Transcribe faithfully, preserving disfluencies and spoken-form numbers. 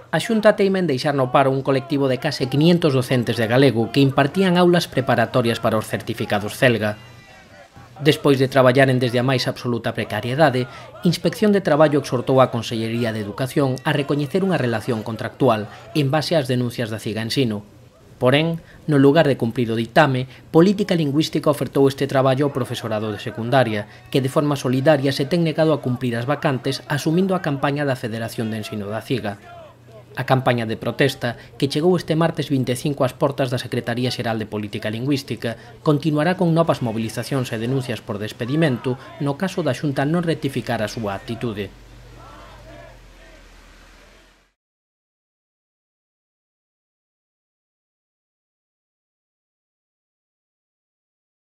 A Xunta teima en deixar no paro un colectivo de case quinhentos docentes de galego que impartían aulas preparatorias para os certificados Celga. Despois de traballaren desde a máis absoluta precariedade, Inspección de Traballo exhortou a Consellería de Educación a recoñecer unha relación contractual en base ás denuncias da Ciga Ensino. Porén, no lugar de cumprir o ditame, Política Lingüística ofertou este traballo ao profesorado de secundaria, que de forma solidaria se ten negado a cumprir as vacantes asumindo a campaña da Federación de Ensino da Ciga. A campaña de protesta, que chegou este martes vinte e cinco ás portas da Secretaría Xeral de Política Lingüística, continuará con novas movilizacións e denuncias por despedimento no caso da Xunta non rectificar a súa actitude.